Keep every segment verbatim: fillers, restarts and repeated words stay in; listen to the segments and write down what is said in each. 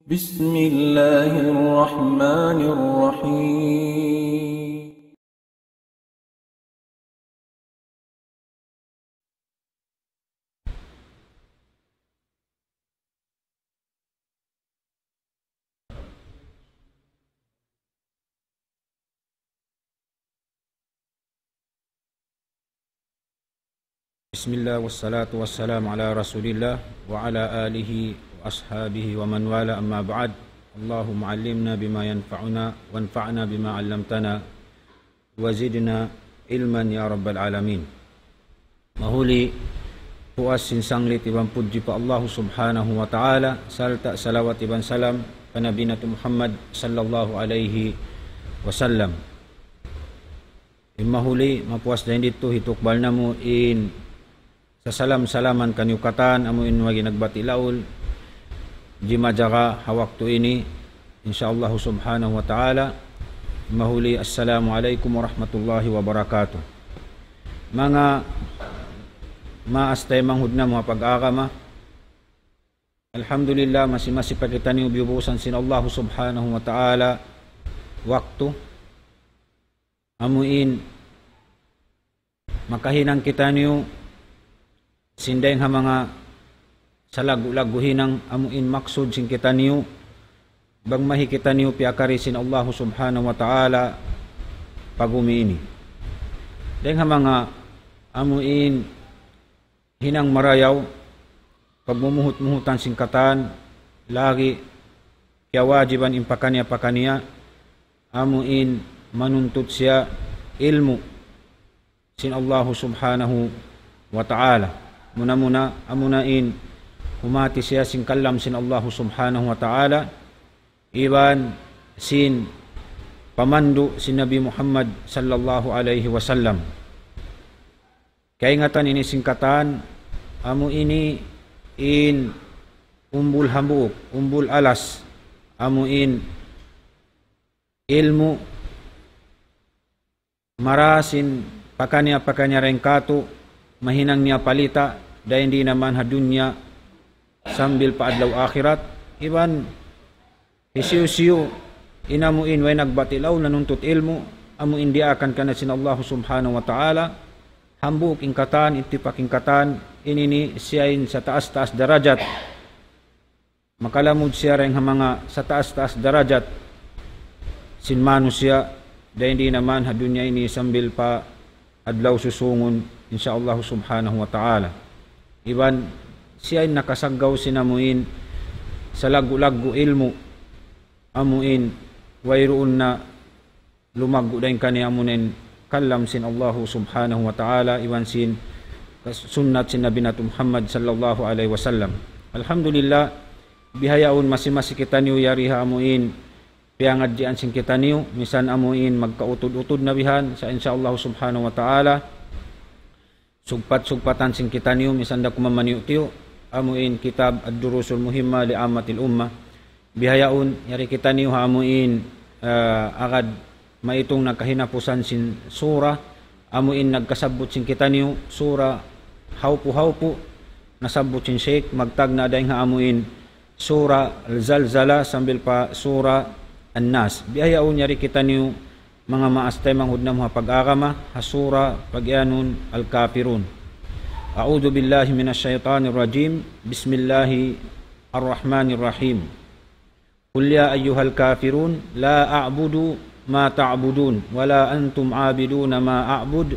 بسم الله الرحمن الرحيم. بسم الله والصلاة والسلام على رسول الله وعلى آله وأصحابه ومن والاه، أما بعد. اللهم علمنا بما ينفعنا وانفعنا بما علمتنا وزدنا علما يا رب العالمين. Mahuli, puas sin sanglit iban pudji pa Allah Subhanahu wa Ta'ala, sarta' salawat iban salam pa Nabi natu' Muhammad sallallahu alayhi wasallam. In mahuli, mapuas dayn didtu hitukbal namu' in sasalam-salaman kaniyu katan, amu in wagi' nagbati' laul, jimajaga ha waktu ini, insya Allah Subhanahu wa Ta'ala. Mahuli, Assalamu alaykum warahmatullahi wabarakatuh. Manga maas taymanghud namu' ha pag-agama, alhamdulillah, masi-masi pa kitaniyu biyubusan sin Allah Subhanahu wa Ta'ala waktu, amu in makahinang kitaniyu sin dayng ha manga salaggu'-laggu' hinang, amu in maksud sin kitaniyu, bang mahi kitaniyu piyakari sin Allah Subhanahu wa Ta'ala pa bumi ini. Dayng ha manga amu in hinang marayaw, pagmumuhut-muhutan sin katan, lagi' kiyawajiban in pakaniya-pakaniya, amu in manuntut siya ilmu' sin Allahu Subhanahu wa Ta'ala. Muna-muna, amuna in humati siya sin kalam sin Allahu Subhanahu wa Ta'ala, iban sin pamandu' sin Nabi Muhammad sallallahu alayhi wasallam. Kaingatan ini sin katan, amu ini in umbul hambuuk, umbul alas, amu in ilmu' mara sin pakaniya-pakaniya dayn kātu', mahinang niya palita, dayn di naman ha dunya sambil pa adlaw akhirat, iban hisiyu-siyu in amu in way nagbati' laul nanuntut ilmu', amu in diyaakan kaniya sin Allah Subhanahu wa Ta'ala, hambuuk in katan, ittipak in katan, ini ini siya in sataas-taas darajat. Makalamud siya dayn ha manga sataas-taas darajat sin manusiya', dayn di naman ha dunya ini sambil pa adlaw susūngun, insya Allah Subhanahu wa Ta'ala. Iban siya in nakasaggaw sin amu in salaggu'-laggu' ilmu', amu in wayruun na lumaggu' dayn kaniya, amuna in kalam sin Allahu Subhanahu wa Ta'ala, iban sin sunnat sin Nabi natu' Muhammad sallallahu alayhi wasallam. Alhamdulillah, bihaun masi-masi kitaniyu yari ha amu in piyangadjian sin kitaniyu, misan amu in magkautud-utud na bihan, sa' insya Allah Subhanahu wa Ta'ala, sugpat-sugpatan sin kitaniyu, misan da kuman maniyu'-tiyu', amu in kitab Ad-Durusul Muhimma li Ammatil Ummah. Bihaun, yari kitaniyu ha amu in, ah, agad maitung na kahinapusan sin sura, amu in nagkasabbut sin kitaniyu, sura hawpu-hawpu, nasabbut sin Sheikh, magtagna' dayn ha amu in sura Al-Zalzala sambil pa sura An-Nas. Bihaun yari kitaniyu manga maas taymanghud namu' ha pag-agama, ha sura pagiyanun Al-Kafirun. أعوذ بالله من الشيطان الرجيم. بسم الله الرحمن الرحيم. قل يا أيها الكافرون لا أعبد ما تعبدون ولا أنتم عابدون ما أعبد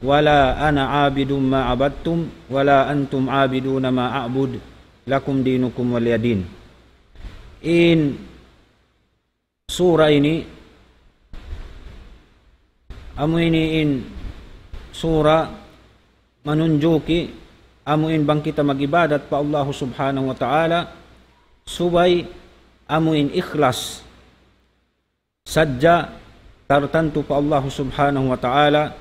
ولا أنا عابد ما عبدتم ولا أنتم عابدون ما أعبد لكم دينكم ولي دين. In sura ini, amu ini in sura manunjuki amu in bang kita mag-ibadat pa Allahu Subhanahu wa Ta'ala, subay amu in ikhlas sadja tartantu pa Allahu Subhanahu wa Ta'ala,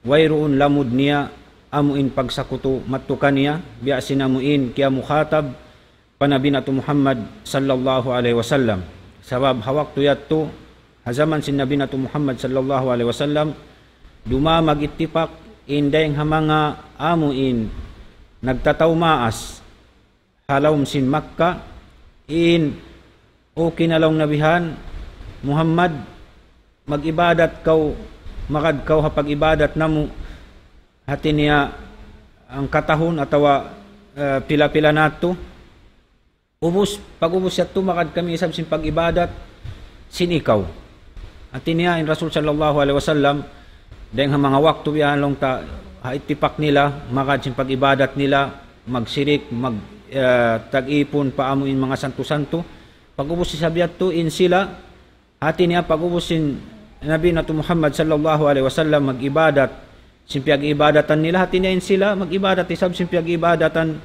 wayruun lamud niya amu in pagsakutu mattu kaniya, biya' sin amu in kiyamukhatab pa Nabi natu' Muhammad sallallahu alayhi wasallam. Sabab ha waktu yadtu, ha jaman sin Nabi natu' Muhammad sallallahu alayhi wasallam, dumamag ittipak in dayng ha manga amu in nagtataw maas ha lawm sin Makkah, in Okay na laung Nabi han, Muhammad, mag-ibadat kaw, magad kaw ha pag-ibadat namu', hati niya hangka tahun atawa, eh, pila-pila na yadtu. Ubus, pag-ubus yadtu, magad kami isab sin pag-ibadat sin ikaw. Hati niya, in Rasul sallallahu alayhi wasallam, dayng ha manga waktu yan laung ta, ha ittipak nila, magad sin pag-ibadat nila, magsirik, mag, eh, tag-ipun pa amu in manga santu-santu. Pag-ubus isab yadtu, in sila, hati niya pag-ubus sin Nabi natu' Muhammad sallallahu alayhi wasallam mag-ibadat sin piyag-iibadatan nila, hati niya in sila mag-ibadat isab sin piyag-iibadatan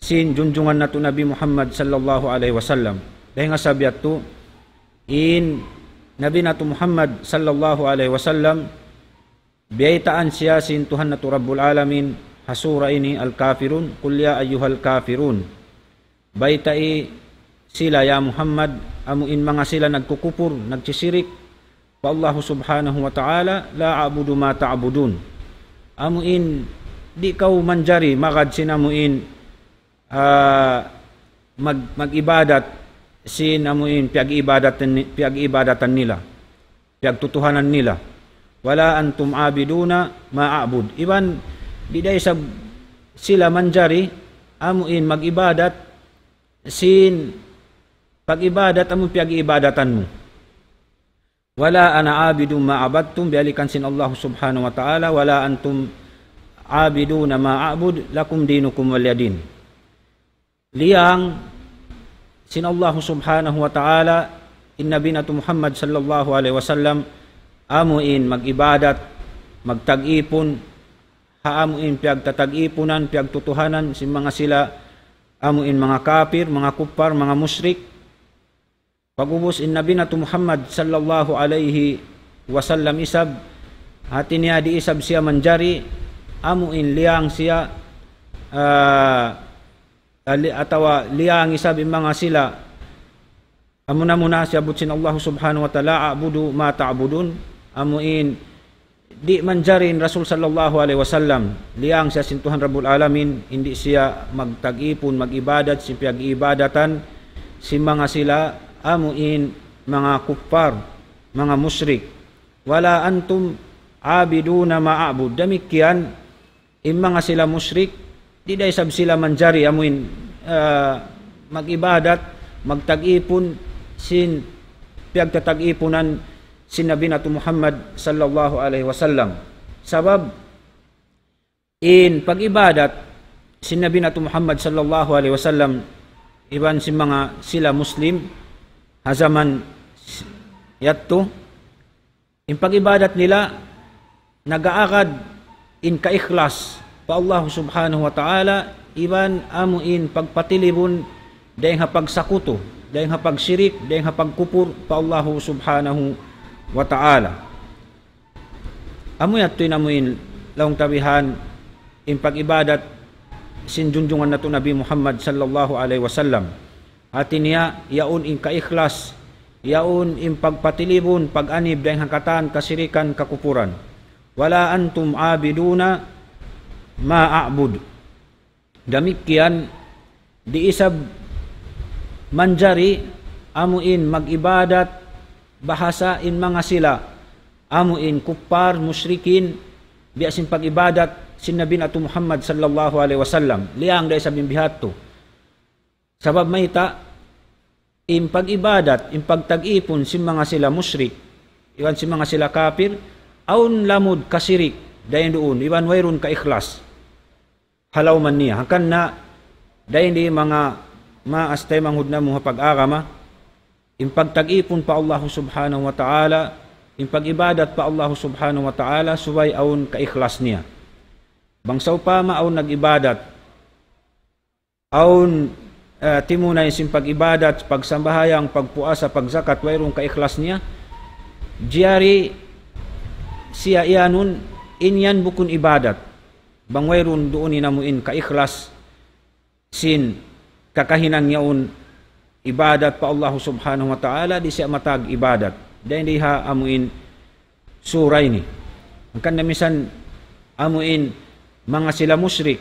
sin junjungan natu' Nabi Muhammad sallallahu alayhi wasallam. Dayng ha sabab yadtu, in Nabi natu' Muhammad sallallahu alayhi wasallam, biyaytaan siya sin Tuhan natu' Rabbul Alamin, ha sura ini, Al-Kafirun, قل يا أيها الكافرون. Baytai sila, ya Muhammad, amu in manga sila nagkukupur, nagsisirik pa Allahu subhanahu wa ta'ala, لا أعبد ما تعبدون. Amu in di' kaw manjari magad sin amu in, ah, mag-, mag-ibadat sin amu in piyag-iibadatan ni-, piyag-iibadatan nila, piyagtutuhanan nila. ولا أنتم عابدون ما أعبد. Iban di' da isab sila manjari amu in mag-ibadat sin pag-ibadat amu piyag-iibadatan mu. ولا أنا عابد ما عبدتم, biyalikan sin Allah subhanahu wa ta'ala, ولا أنتم عابدون ما أعبد, لكم دينكم ولي دين. Liyang sin Allah subhanahu wa ta'ala, in Nabi natu' Muhammad sallallahu alayhi wasallam, amu in mag-ibadat, magtag-ipun, ha amu in piyagtatag-ipunan, piyagtutuhanan, sin manga sila, amu in manga kapir, manga kuppar, manga mushrik. Pag-ubus in Nabi natu' Muhammad sallallahu alayhi wasallam isab, hati niya di' isab siya manjari, amu in liyang siya, ah, ali-, atawa liyang isab in manga sila. Amu na muna siyabbut sin Allah subhanahu wa ta'ala, أعبد ما تعبدون, amu in di' manjari in Rasul sallallahu alayhi wasallam, liyang siya sin Tuhan Rabbul Alamin, di' siya magtag-ipun, mag-ibadat, sin piyag-iibadatan sin manga sila, amu in manga kuppar, manga mushrik. ولا أنتم عابدون ما أعبد. Damikkiyan, in manga sila mushrik, di' da isab sila manjari amu in, ah, mag-ibadat, magtag-ipun, sin piyagtatag-ipunan sin Nabi natu' Muhammad sallallahu alayhi wasallam. Sabab, in pag-ibadat sin Nabi natu' Muhammad sallallahu alayhi wasallam, iban sin manga sila Muslim, ha jaman yadtu, in pag-ibadat nila, nag-aagad in kaikhlas pa Allah subhanahu wa ta'ala, iban amu in pagpatilibun, dayng ha pagsakutu, dayng ha pagsirik, dayng ha pagkupur pa Allah subhanahu wa ta'ala. Amu yadtu in amu in laung ta bihan in pag-ibadat sin junjungan natu' Nabi Muhammad sallallahu alayhi wasallam. Hati niya, yaun in kaikhlas, yaun in pagpatilibun, pag-anib dayng ha katan kasirikan, kakupuran. ولا أنتم عابدون ما أعبد. Damikkiyan, di' isab manjari amu in mag-ibadat bahasa in manga sila, amu in kuppar, mushrikin, biya' sin pag-ibadat sin Nabi natu' Muhammad sallallahu alayhi wasallam. Liyang da isab in biha' yadtu. Sabab mayta', in pag-ibadat, in pagtag-ipun sin manga sila mushrik, iban sin manga sila kapir, awn lamud kasirik, dayn duun, iban wayruun kaikhlas ha lawm niya. Hangkan na, dayn di manga maas taymanghud namu' ha pag-agama, in pagtag-ipun pa Allah subhanahu wa ta'ala, in pag-ibadat pa Allah subhanahu wa ta'ala, subay awn kaikhlas niya. Bang sawpama awn nag-ibadat, awn, eh, timunay sin pag-ibadat, pagsambahayang, pagpuasa, pagzakat, wayruun kaikhlas niya, jari siya iyanun, in yan bukun ibadat. Bang wayruun duun in amu in kaikhlas sin kakahinang yaun ibadat pa Allah subhanahu wa ta'ala, di' siya matag ibadat. Dayn di ha amu in sura ini. Hangkan na misan amu in manga sila mushrik,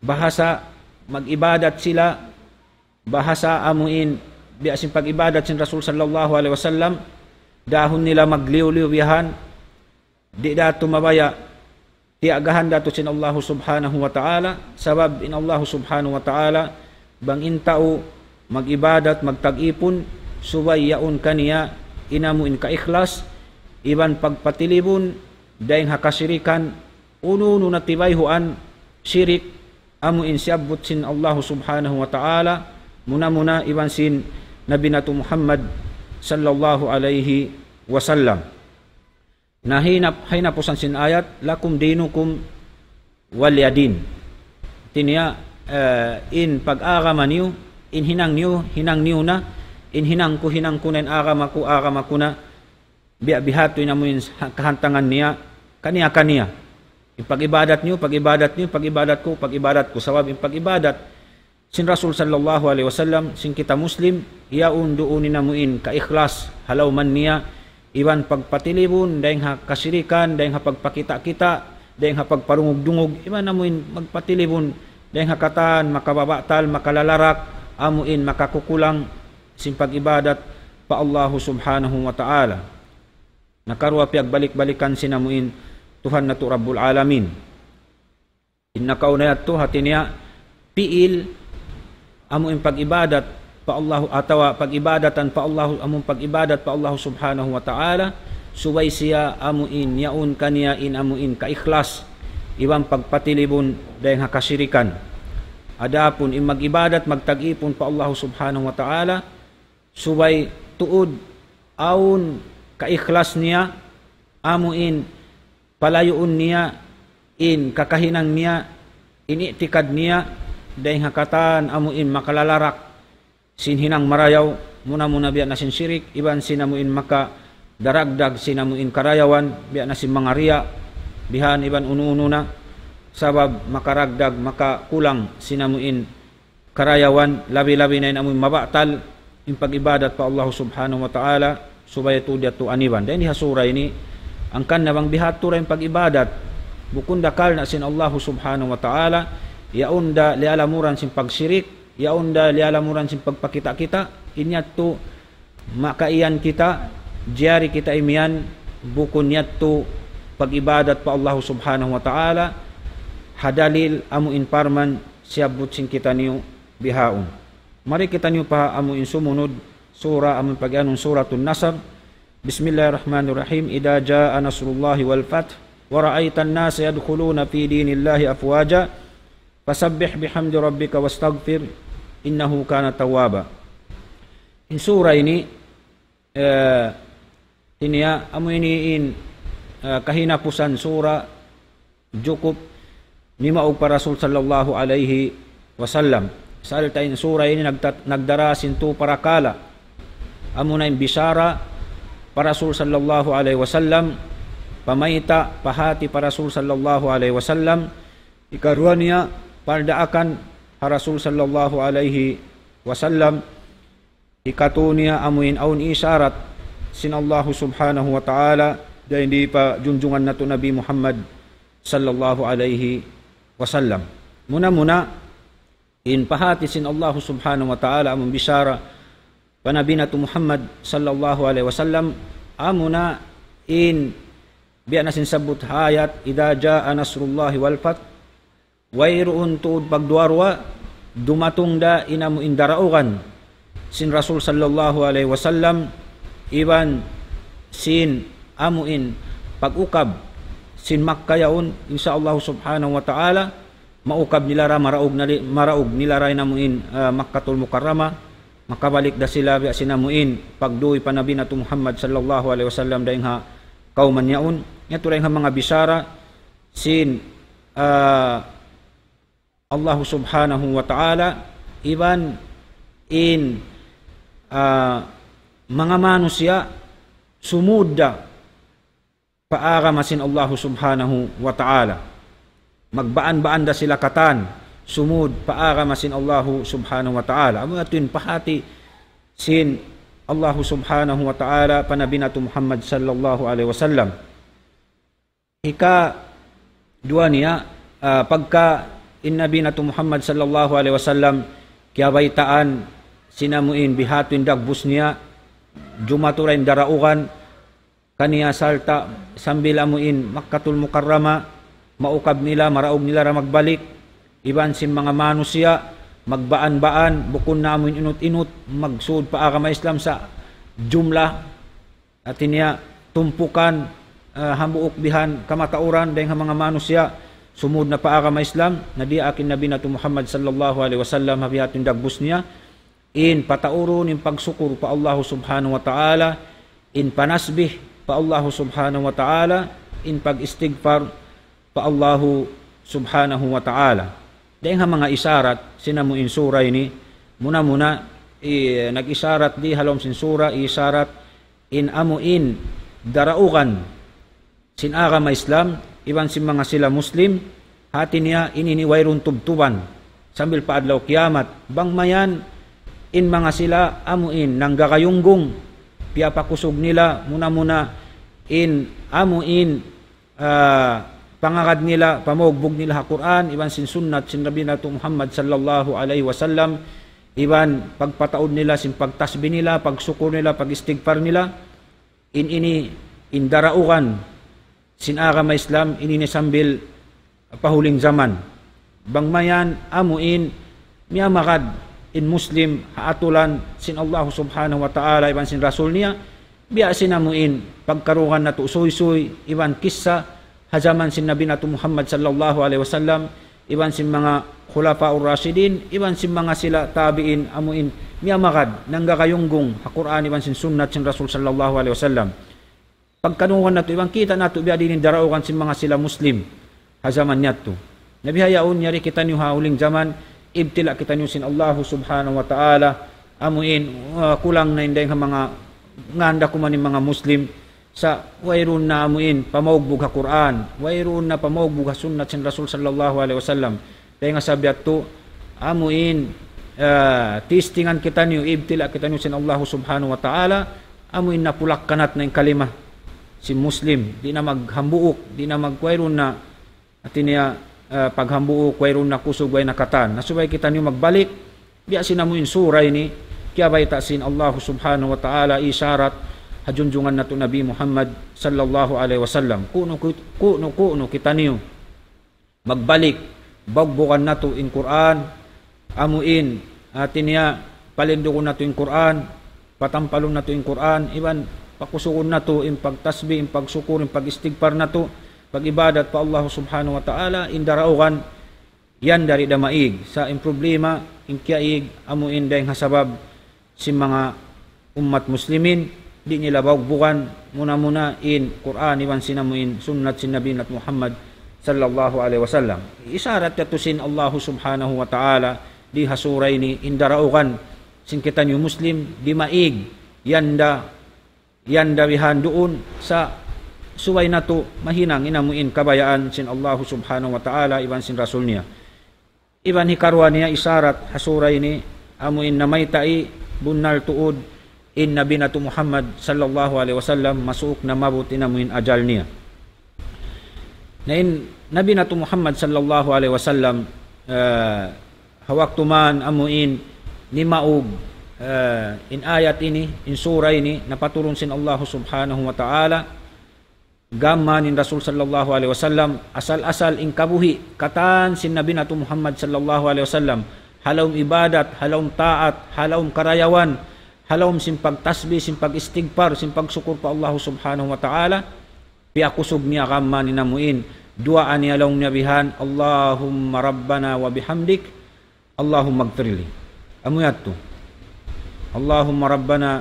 bahasa mag-ibadat sila, bahasa amu in biya' sin pag-ibadat sin Rasul sallallahu alayhi wasallam, dahun nila magliyu-liyu bihan, di' da tu mabaya', tiyagahan da tu sin Allahu subhanahu wa ta'ala, sabab in Allahu subhanahu wa ta'ala, bang in tau mag-ibadat, magtag-ipun, subay yaun kaniya in amu in kaikhlas, iban pagpatilibun, dayng ha kasirikan, unu-unu na tibayhuan, sirik, amu in siyabbut sin Allahu subhanahu wa ta'ala, muna-muna iban sin Nabi natu' Muhammad sallallahu alayhi wasallam. Na hinap-, hinapusan sin ayat, "Lakum dinukum waliya din." Hati niya, eh, in pag-agama niyu, in hinang niyu, hinang niyu na, in hinang ku, hinang ku na, in agama ku, agama ku na, biya' bihadtu in amu in ha-, kahantangan niya, kaniya-kaniya. In pag-ibadat niyu, pag-ibadat niyu, pag-ibadat ku, pag-ibadat ku. Sabab in pag-ibadat sin Rasul sallallahu alayhi wasallam, sin kita Muslim, yaun duun in amu in kaikhlas, ha lawm niya, iban pagpatilibun, dayng ha kasirikan, dayng ha pagpakita'-kita', dayng ha pagparungug-dungug, iban amu in magpatilibun, dayng ha katan, makababatal, makalalarak, amu in makakukulang, sin pag-ibadat pa Allahu subhanahu wa ta'ala. Nakaruwa piyagbalik-balikan sin amu in Tuhan natu' Rabbul Alamin. In nakauna yadtu hati niya pi'il amu in pag-ibadat pa Allahu atawa pag-ibadatan pa Allahu, amu in pag-ibadat pa Allahu subhanahu wa ta'ala, subay siya amu in yaun kaniya in amu in kaikhlas, iban pagpatilibun dayng ha kasirikan. Adapun in mag-ibadat, magtag-ipun pa Allahu subhanahu wa ta'ala, subay tuud awn kaikhlas niya, amu in palayuun niya, in kakahinang niya, in i'tikad niya, dayng ha katan amu in makalalarak, sin hinang marayaw, muna-muna biya' na sin sirik, iban sin amu in makadaragdag, sin amu in karayawan, biya' na sin manga riya', bihan iban unu-unu na, sabab makaragdag, makakulang, sin amu in karayawan, labi-labi na in amu in mabatal, in pag-ibadat pa Allahu subhanahu wa ta'ala, subay tuud yadtu aniban. Dayn di ha sura ini, hangkan na bang bihadtu da in pag-ibadat, bukun da karna' sin Allahu subhanahu wa ta'ala, yaun da liyalamuran sin pagsirik, yaun da liyalamuran sin pagpakita'-kita', in yadtu makaiyan kita, jari kita imiyan, bukun yadtu pag-ibadat pa Allahu subhanahu wa ta'ala, ha dalil amu in parman siyabbut sin kitaniyu bihaun. Mari kitaniyu pa amu in sumunud sura, amu in pag-iyanun Suratun Nasr. بسم الله الرحمن الرحيم. إذا جاء نصر الله والفتح ورأيت الناس يدخلون في دين الله أفواجا فسبح بحمد ربك واستغفره إنه كان توابا. In sura ini, eh, ini ya, amu ini in, eh, kahinapusan sura jukup nimaug pa Rasul sallallahu alayhi wasallam. Sarta' in sura ini nagta-, nagdara sin tu parakala'. Amuna in bisara pa Rasul sallallahu alayhi wasallam, pamayta', pahāti pa Rasul sallallahu alayhi wasallam, ikaruwa niya, pardaakan ha Rasul sallallahu alayhi wasallam, ikatu niya amu in awn isharat sin Allahu subhanahu wa ta'ala, dayn di pa junjungan natu' Nabi Muhammad sallallahu alayhi wasallam. Muna-muna, in pahāti sin Allahu subhanahu wa ta'ala amu in bisara pa Nabi natu' Muhammad sallallahu alayhi wasallam, amuna in biya' na sin sabbut ha ayat, إذا جاء نصر الله والفتح, wayruun tuud pagduwa-ruwa, dumatung da in amu in daraugan sin Rasul sallallahu alayhi wasallam, iban sin amu in pag-ukab sin Makkah yaun, insya Allah subhanahu wa ta'ala, maukab nila ra, maraug nali-, maraug nila ra in amu in, ah, Makkatul Mukarramah, makabalik da sila biya' sin amu in pagduy pa Nabi natu' Muhammad sallallahu alayhi wasallam dayn ha kawman yaun. Yadtu dayn ha manga bisara sin, ah, Allahu subhanahu wa ta'ala, iban in, ah, manga manusiya' sumud da pa agama sin Allahu subhanahu wa ta'ala. Magbaan-baan da sila katan, sumud pa agama sin Allahu subhanahu wa ta'ala. Amu yadtu in pahāti sin Allahu subhanahu wa ta'ala pa Nabi natu' Muhammad sallallahu alayhi wasallam. Hikaduwa niya, ah, pagka in Nabi natu' Muhammad sallallahu alayhi wasallam kiyabaytaan sin amu in biha'tu in dagbus niya, jumatu da in daraugan kaniya sarta' sambil amu in Makkatul Mukarrama, maukab nila, maraug nila da magbalik, iban sin manga manusiya', magbaan-baan, bukun na amu in inut-inut, magsud pa agama Islam sa' jumlah, hati niya tumpukan, ah, hambuuk bihan kamatauran, dayng ha manga manusiya', sumud na pa agama Islam, na diyaak in Nabi natu' Muhammad sallallahu alayhi wasallam, ha biha'tu in dagbus niya, in pataurun in pagsukur pa Allahu Subhanahu wa Ta'ala, in panasbih pa Allahu Subhanahu wa Ta'ala, in pag-istigfar pa Allahu Subhanahu wa Ta'ala. Dayng ha manga isarat sin amu in sura ini, muna-muna, i-, nag-isarat di ha lawm sin sura, isarat in amu in daraugan sin agama Islam, iban sin manga sila Muslim, hati niya ini ini wayruun tubtuban sambil pa adlaw kiyamat. Bang mayan in manga sila amu in nanggagayunggung, piyapakusug nila muna-muna in amu in, ah, pangagad nila, pamaugbug nila ha Qur'an, iban sin sunnat sin Nabi natu' Muhammad sallallahu alayhi wasallam, iban pagpataud nila sin pagtasbih nila, pagsukur nila, pag-istigfar nila, in ini, in daraugan sin agama Islam, in ini sambil pa huling jaman. Bang mayan amu in miyamagad in Muslim ha atulan sin Allah Subhanahu wa Ta'ala iban sin Rasul niya, biya' sin amu in pagkarungugan natu' suysuy iban kissa ha jaman sin Nabi natu' Muhammad sallallahu alayhi wasallam, iban sin manga khulafaur rashidin, iban sin manga sila tabi'in, amu in miyamagad, nanggagayunggung ha Qur'an iban sin sunnat sin Rasul sallallahu alayhi wasallam. Pagkarungugan natu' iban kita' natu' biya' diin in daraugan sin manga sila Muslim ha jaman yadtu. Na bihaun yari kitaniyu ha huling jaman, ibtila' kitaniyu sin Allahu Subhanahu wa Ta'ala, amu in, uh, kulang na in dayng ha manga nganda kuman in manga Muslim, sa' wayruun na amu in pamaugbug ha Qur'an, wayruun na pamaugbug ha sunnat sin Rasul sallallahu alayhi wasallam. Dayng ha sabab yadtu, amu in, ah, testingan kitaniyu, ibtila' kitaniyu sin Allahu Subhanahu wa Ta'ala, amu in napulak-kanat na in kalima sin Muslim, di' na maghambuuk, di' na mag-, wayruun na, hati niya, ah, paghambuuk, wayruun na kusug, way na katan. Na subay kitaniyu magbalik, biya' sin amu in sura ini, kiyabayta' sin Allahu Subhanahu wa Ta'ala, isarat ha junjungan natu' Nabi Muhammad sallallahu alayhi wasallam. Kunu, kunu, kunu kitaniyu magbalik, baugbugan natu' in Qur'an, amu in, hati niya, palindugun natu' in Qur'an, patampalun natu' in Qur'an, iban pakusugun natu' in pagtasbih, in pagsukur, in pag-istigfar natu', pag-ibadat pa Allah Subhanahu wa Ta'ala, in daraugan, yan di' da maig. Sa' in problema, in kiyaig, amu in dayng ha sabab sin manga ummat muslimin, di' nila baugbugan muna-muna in Qur'an iban sin amu in sunnat sin Nabi natu' Muhammad sallallahu alayhi wasallam. Isarat yadtu sin Allahu Subhanahu wa Ta'ala di ha sura ini in daraugan sin kitaniyu Muslim, di' maig, yan da, yan da bihan duun, sa' subay natu' mahinang in amu in kabayaan sin Allahu Subhanahu wa Ta'ala iban sin Rasul niya. Iban hikaruwa niya isarat ha sura ini, amu in namayta' bunnal tuud in Nabi natu' Muhammad sallallahu alayhi wasallam masuuk na maabut in amu in ajal niya. Na in Nabi natu' Muhammad sallallahu alayhi wasallam, eh, ha waktu man amu in nimaug, eh, in ayat ini, in sura ini, napaturun sin Allah Subhanahu wa Ta'ala, gam mayan in Rasul sallallahu alayhi wasallam, asal-asal in kabuhi', katan sin Nabi natu' Muhammad sallallahu alayhi wasallam, ha lawm ibadat, ha lawm taat, ha lawm karayawan, ha lawm sin pagtasbih, sin pag-istigfar, sin pagsukur pa Allah Subhanahu wa Ta'ala, piyakusug niya gam mayan in amu in, duwaa niya laung niya bihan, اللهم ربنا وبحمدك اللهم اغفر لي. Amu yadtu. اللهم ربنا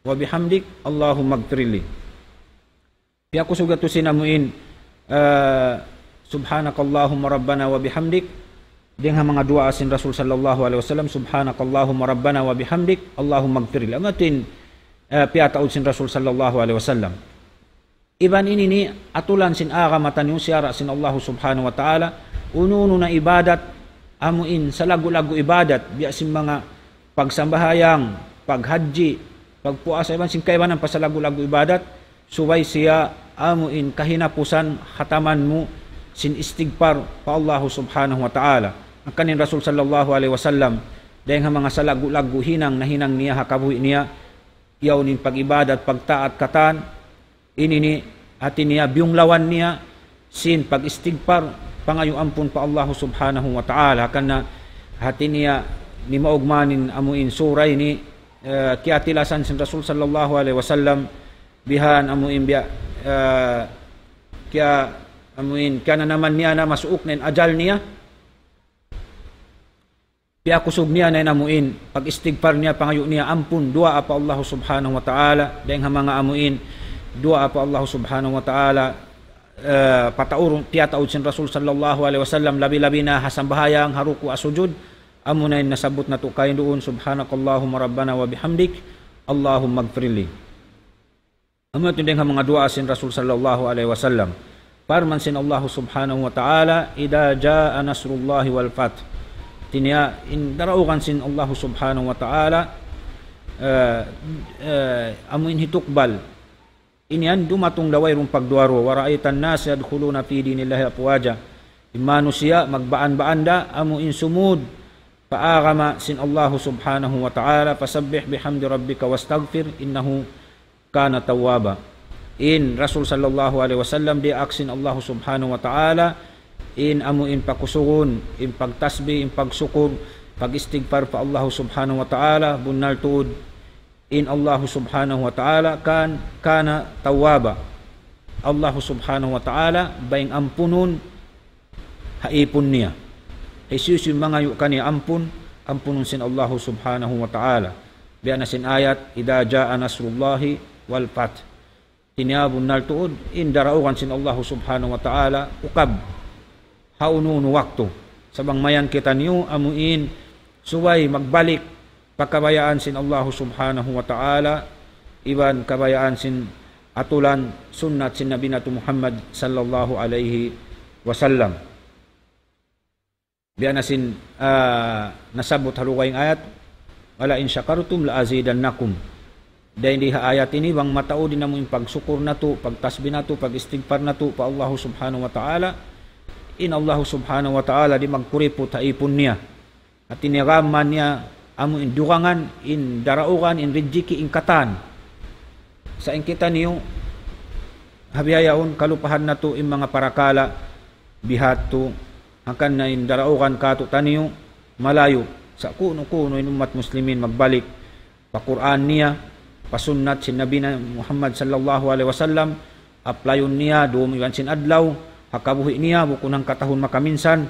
وبحمدك اللهم اغفر لي. Piyakusug yadtu sin amu in, eh, سبحانك اللهم ربنا وبحمدك. Dayng ha manga duwaa sin Rasul sallallahu alayhi wasallam, سبحانك اللهم ربنا وبحمدك اللهم اغفر لي. Amu yadtu in, eh, piyataud sin Rasul sallallahu alayhi wasallam. Iban ini ini atulan sin agama taniyu, siyara' sin Allah Subhanahu wa Ta'ala, unu-unu na ibadat, amu in salaggu'-laggu' ibadat, biya' sin manga pagsambahayang, paghajji, pagpuasa, iban sin kaibanan pa salaggu'-laggu' ibadat, subay siya amu in kahinapusan khataman mu sin istigfar pa Allah Subhanahu wa Ta'ala. Hangkan in Rasul sallallahu alayhi wasallam, Dayng ha manga salaggu'-laggu' hinang nahinang niya ha kabuhi' niya, yaun in pag-ibadat, pagtaat katan, ini ini hati niya biyunglawan niya sin pag-istigfar, pangayu' ampun pa Allahu Subhanahu wa Ta'ala. Karna' hati niya nimaug man in amu in sura ini, eh, kiyatilasan sin Rasul sallallahu alayhi wasallam, bihan amu in biya', eh, kiya, amu in, kiyananaman niya na masuuk na in ajal niya. Piyakusug niya na in amu in pag-istigfar niya, pangayu' niya ampun, duwaa pa Allahu Subhanahu wa Ta'ala, dayng ha manga amu in duwaa pa Allahu Subhanahu wa Ta'ala, eh, pataurun, piyataud sin Rasul sallallahu alayhi wasallam, labi-labi na ha sambahayang, ha ruku', ha sujud, amu na in nasabbut natu' kaina duun, سبحانك اللهم ربنا وبحمدك اللهم اغفر لي. Amu yadtu dayng ha manga duwaa sin Rasul sallallahu alayhi wasallam. Parman sin Allahu Subhanahu wa Ta'ala, إذا جاء نصر الله والفتح. Hati niya, in daraugan sin Allahu Subhanahu wa Ta'ala, eh, eh, amu in hitukbal. Ini yan dumatung da wayruun pagduwa-ruwa. ورأيت الناس يدخلون في دين الله أفواجا. In manusiya' magbaan-baan da, amu in sumud pa agama sin Allahu Subhanahu wa Ta'ala, فسبح بحمد ربك واستغفره إنه كان توابا. In Rasul sallallahu alayhi wasallam diyaak sin Allahu Subhanahu wa Ta'ala, in amu in pakusugun, in pagtasbih, in pagsukur, pag-istigfar pa Allahu Subhanahu wa Ta'ala, bunnal tuud, in Allahu Subhanahu wa Ta'ala كان، كان توابا. Allahu Subhanahu wa Ta'ala, bayng ampunun, ha ipun niya. Hisiyu-siyu mangayu' kaniya ampun, ampunun sin Allahu Subhanahu wa Ta'ala. Biya' na sin ayat, إذا جاء نصر الله والفتح. Hati niya bunnal tuud, in daraugan sin Allahu Subhanahu wa Ta'ala, ukab, ha unu-unu waktu. Sa' bang mayan kitaniyu, amu in, subay magbalik, pa kabayaan sin Allahu Subhanahu wa Ta'ala, iban kabayaan sin aturan sunnat sin Nabi natu' Muhammad sallallahu alayhi wasallam. Biya' na sin, ah, nasabbut ha lugay ayat, ولئن شكرتم لأزيدنكم. Dayn di ha ayat ini, bang mataud in amu in pagsukur natu', pagtasbih natu', pag-istigfar natu', pa Allahu Subhanahu wa Ta'ala, in Allahu Subhanahu wa Ta'ala di' magkuriput ha ipun niya. Hati niya gām niya, amu in dugangan, in daraugan, in rijiki', in katan. Sa' in kitaniyu, ha bihaun kalupahan natu' in manga parakala', bihadtu, hangkan na in daraugan kātu'niyu, malayu'. Sa' kunu-kunu in ummat muslimin magbalik pa Qur'an niya, pa sunnat sin Nabi na Muhammad sallallahu alayhi wasallam, apply-un niya, dūm iban sin adlaw, ha kabuhi' niya, bukun hangka tahun makaminsan.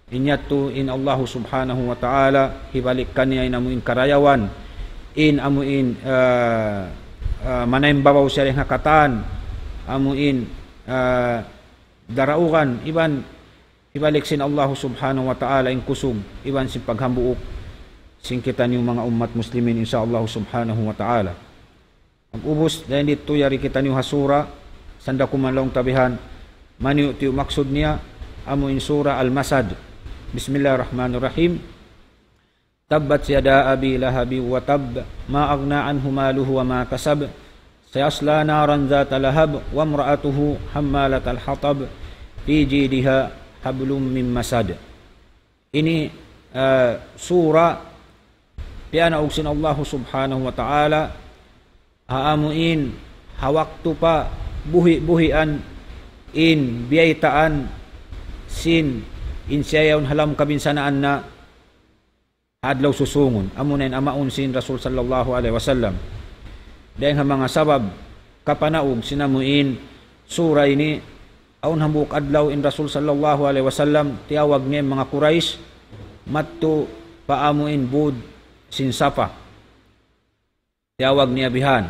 In yadtu in Allahu Subhanahu wa Ta'ala, hibalik kaniya in amu in karayawan, in amu in, ah, ah, manaymbaraw siya dayn ha katan, amu in, ah, daraugan, iban hibalik sin Allahu Subhanahu wa Ta'ala in kusug, iban sin paghambuuk sin kitaniyu manga ummat muslimin, insya Allahu Subhanahu wa Ta'ala. Pag-ubus, dayn didtu yari kitaniyu ha sura, sanda kuman laung ta bihan, maniyu-tiyu maksud niya, amu in sura Al-Masad. بسم الله الرحمن الرحيم. تبت يدا أبي لهب وتب، ما أغنى عنه ماله وما كسب، سيصلى نارا ذات لهب، وامرأته حمالة الحطب، في جيدها حبل من مسد. Ini, eh, sura piyanaug sin Allahu Subhanahu wa Ta'ala, ha amu in, ha waktu pa buhi'-buhian in biyaytaan sin in siya yaun ha lawm kabinsanaan na ha adlaw susūngun. Amu na in amaun sin Rasul sallallahu alayhi wasallam. Dayn ha manga sabab kapanaug sin amu in sura ini, awn hambuuk adlaw in Rasul sallallahu alayhi wasallam, tiyawag niya in manga Quraysh, madtu pa amu in būd sin Safa. Tiyawag niya bihan.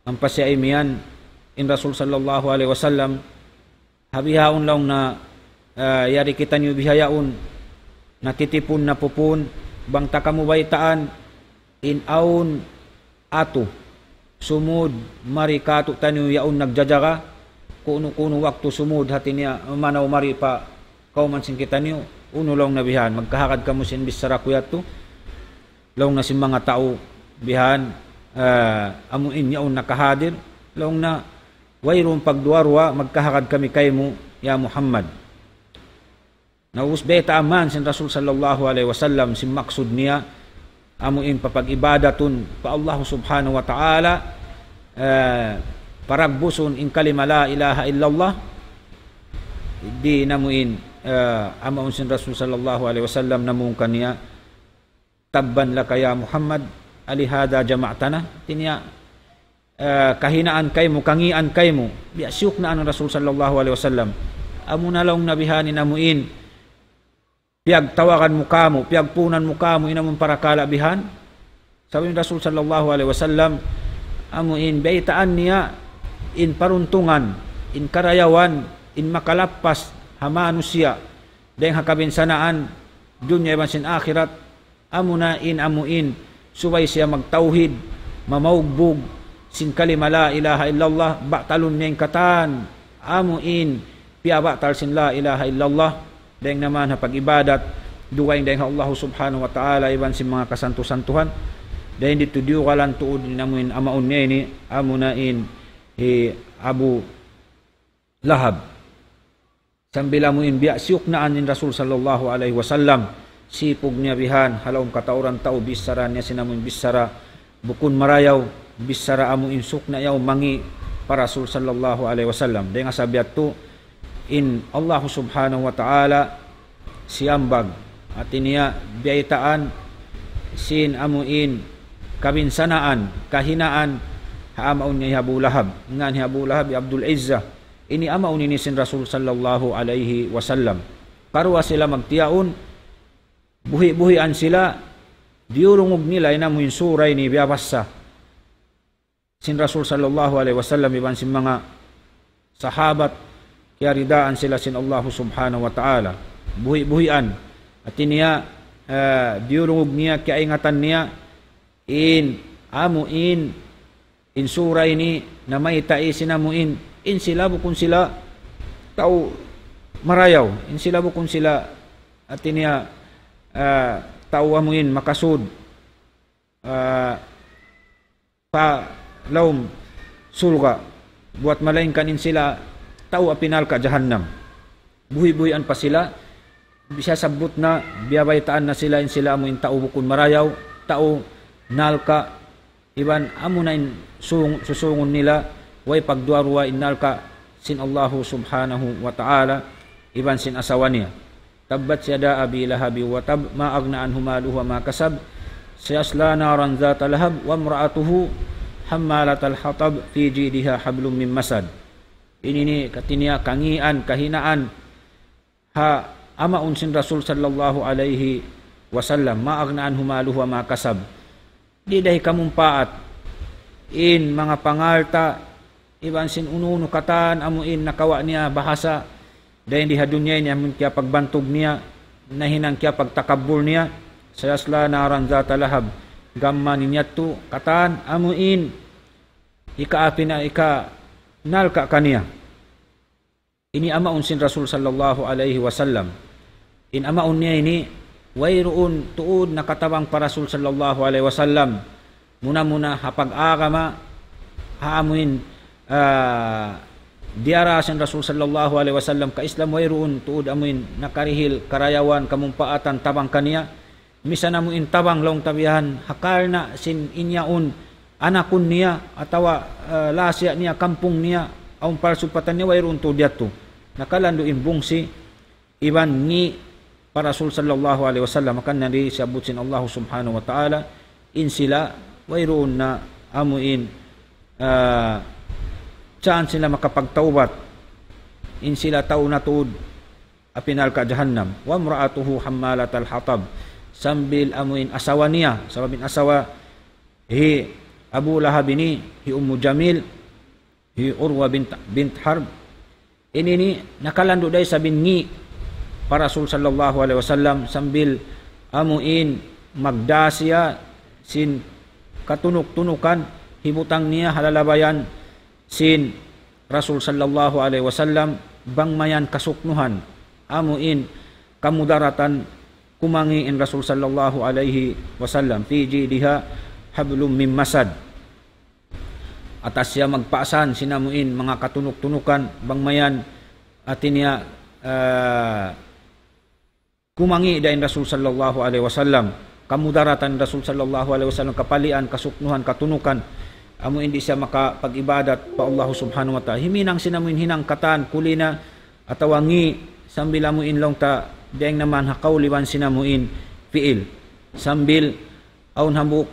Ampa siya imiyan, in Rasul sallallahu alayhi wasallam, ha bihaun laung niya, ah, yari kitaniyu bihaun, natitipun na pupun, bang ta kamu baytaan, in awn atu, sumud, mari kātu'niyu yaun nagjajaga, kunu-kunu waktu sumud hati niya, manaw mari pa kawman sin kitaniyu, unu laung niya bihan, magkahagad kamu sin bichara ku yadtu, laung niya sin manga tau bihan, ah, amu in yaun nakahadir, laung niya, wayruun pagduwa-ruwa, magkahagad kami kaymu, ya Muhammad. Na ubus baytaan sin Rasul sallallahu alayhi wasallam sin maksud niya, amu in papag-ibadatun pa Allah subhanahu wa ta'ala, eh, paragbusun in kalima la ilaha illallah, di' na amu in, eh, amu in sin Rasul sallallahu alayhi wasallam namung kaniya, "Tabban laka ya Muhammad, alihada jama'tana?" Hati niya, eh, kahinaan kaymu, kangian kaymu. Biya' siyuknaan in Rasul sallallahu alayhi wasallam. Amu na laung nabihan in amu in piyagtawagan mu kamu, piyagpunan mu kamu, in amu in parakala' bihan. Sabab in Rasul sallallahu alayhi wasallam, amu in baytaan niya, in paruntungan, in karayawan, in makalappas ha manusiya' dayng ha kabinsanaan dunya iban sin akhirat, amu na in amu in subay siya magtawhid, mamaugbug sin kalima la ilaha illallah, batalun niya in katan amu in piyabatal sin la ilaha illallah. Dayng naman ha pag-ibadat dugaing dayng ha Allah subhanahu wa ta'ala iban sin manga kasantu-santuhan. Dayng didtu diyugalan tuud in amu in amaun niya ini, amu na in hi Abu Lahab. Sambil amu in biya' siyuknaan in Rasul sallallahu alayhi wasallam, sipug niya bihan, ha lawm katauran tau, bichara niya sin amu in bichara bukun marayaw, bichara amu in sukna' yaun mangi' pa Rasul sallallahu alayhi wasallam. Dayng ha sabab yadtu, in Allah subhanahu wa ta'ala siyambag, hati niya biyaytaan sin amu in kabinsanaan, kahinaan, ha amaun niya hi Abu Lahab. Ngan hi Abu Lahab hi Abdul Uzza. Ini amaun ini sin Rasul sallallahu alayhi wasallam. Karuwa sila magtiyaun, buhi'-buhian sila, diyurungug nila in amu in sura ini biyabassa sin Rasul sallallahu alayhi wasallam iban sin manga sahabat, kiyaridaan sila sin Allah subhanahu wa ta'ala. Buhi'-buhian. Hati niya, eh, diyurungug niya, kiyaingatan niya, in amu in, in sura ini, namayta' sin amu in, in sila bukun sila tau marayaw, in sila bukun sila, hati niya, ah, tau amu in makasud, ah, pa lawm surga', buwat malaingkan in sila tau api narka' jahannam. Buhi'-buhian pa sila, biya' sabbut na, biyabaytaan na sila in sila amu in tau bukun marayaw, tau narka', iban amu na in sung-, susungun nila, way pagduwa-ruwa in narka' sin Allahu subhanahu wa ta'ala, iban sin asawa niya. تبت يدا أبي لهب وتب، ما أغنى عنه ماله وما كسب، سيصلى نارا ذات لهب، وامرأته حمالة الحطب، في جيدها حبل من مسد. Ini ini hati niya kangian, kahinaan, ha amaun sin Rasul sallallahu alayhi wasallam, ما أغنى عنه ماله وما كسب. Di' da hikamumpaat in manga pangalta', iban sin unu-unu katan amu in nakawa' niya bahasa, dayn di ha dunya ini amu in kiyapagbantug niya, nahinang kiyapagtakabbul niya, سيصلى نارا ذات لهب, gam mayan yadtu katan amu in hikaapi na, hikanarka' kaniya. Ini amaun sin Rasul sallallahu alayhi wasallam. In amaun niya ini, wayruun tuud nakatabang pa Rasul sallallahu alayhi wasallam. Muna-muna ha pag-agama, ha amu in, ah, diyara sin Rasul sallallahu alayhi wasallam ka Islam, wayruun tuud amu in nakarihil karayawan, kamumpaatan, tabang kaniya. Misan amu in tabang laung ta bihan, ha karna' sin in yaun anakun niya, atawa, eh, lasiya' niya, kampung niya, awn palsupatan niya, wayruun tuud yadtu. Nakalandu' in bungsi, iban ngi' pa Rasul sallallahu alayhi wasallam, hangkan na di' siyabbut sin Allah subhanahu wa ta'ala, in sila, wayruun na amu in, eh, chance nila makapagtawbat, in sila tau na tuud, api narka' jahannam. وامرأته حمالة الحطب. Sambil amu in asawa niya, sabab in asawa hi Abu Lahab ini, hi Ummu Jamil, hi Urwa bint, bint Harb. Ini ini nakalandu' da isab in ngi' pa Rasul sallallahu alayhi wasallam, sambil amu in magdā siya sin katunuk-tunukan, hibutang niya ha lalabayan sin Rasul sallallahu alayhi wasallam, bang mayan kasuknuhan, amu in kamudaratan, kumangi' in Rasul sallallahu alayhi wasallam, في جيدها حبل من مسد. Atas siya magpaasan sin amu in manga katunuk-tunukan, bang mayan hati niya, ah, kumangi' da in Rasul sallallahu alayhi wasallam, kamudaratan Rasul sallallahu alayhi wasallam, kapalian, kasuknuhan, katunukan, amu in di' siya makapag-ibadat pa Allah subhanahu wa ta'ala. Himinang sin amu in hinang katan, kuli na, atawa ngi', sambil amu in laung ta, dayng naman ha kawl iban sin amu in fi'il. Sambil awn hambuuk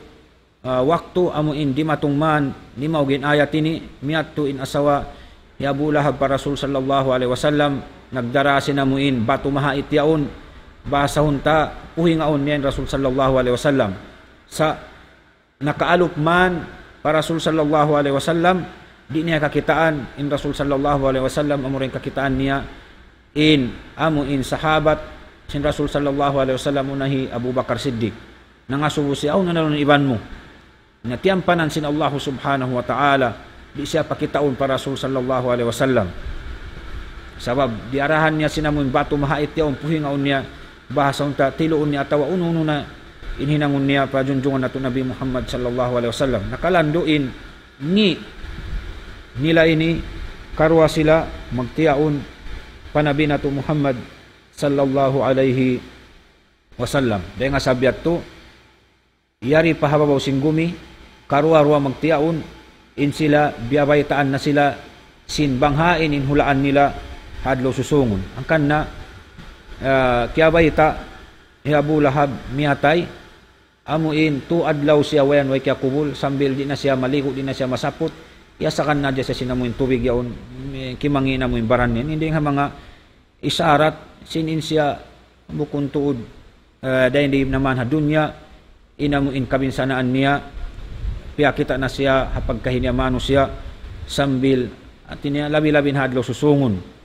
ah, waktu amu in dimatung man, nimaug in ayat ini, miyadtu in asawa hi Abu Lahab pa Rasul sallallahu alayhi wasallam, nagdara sin amu in batu mahait yaun, bahasahun ta, puhingaun niya in Rasul sallallahu alayhi wasallam. Sa' nakaalup man pa Rasul sallallahu alayhi wasallam, di' niya kakitaan in Rasul sallallahu alayhi wasallam, amura in kakitaan niya in amu in sahabat sin Rasul sallallahu alayhi wasallam, unu na hi Abu Bakar Siddiq. Nangasubu siya, "Awn na laung iban mu." Na tiyampanan sin Allah subhanahu wa ta'ala, di' siya pakitaun pa Rasul sallallahu alayhi wasallam. Sabab, diyarahan niya sin amu in batu mahait yaun, puhingaun niya, bahasahun ta, tiluun niya atawa unu-unu na in hinangun niya pa junjungan natu' Nabi Muhammad sallallahu alayhi wasallam. Nakalandu' in ngi' nila ini, karuwa sila magtiyaun pa Nabi natu' Muhammad sallallahu alayhi wasallam. Dayng ha sabab yadtu, yari pa ha babaw sin gumi, karuwa-ruwa magtiyaun, in sila biyabaytaan na sila sin bang hain in hulaan nila ha adlaw susungun. Hangkan na, ah, kiyabayta' hi Abu Lahab miyatay, amu in tū adlaw siya way-an way kiyakubul, sambil di' na siya maligu', di' na siya masaput, iyasakan na hadja siya sin amu in tubig yaun, kimangi' na amu in baran niya. Ini dayng ha manga isarat sin in siya bukun tuud, eh, dayn di naman ha dunya, in amu in kabinsanaan niya, piyakita' na siya ha pagkahi niya manusiya', sambil, hati niya, labi-labi na ha adlaw susungun.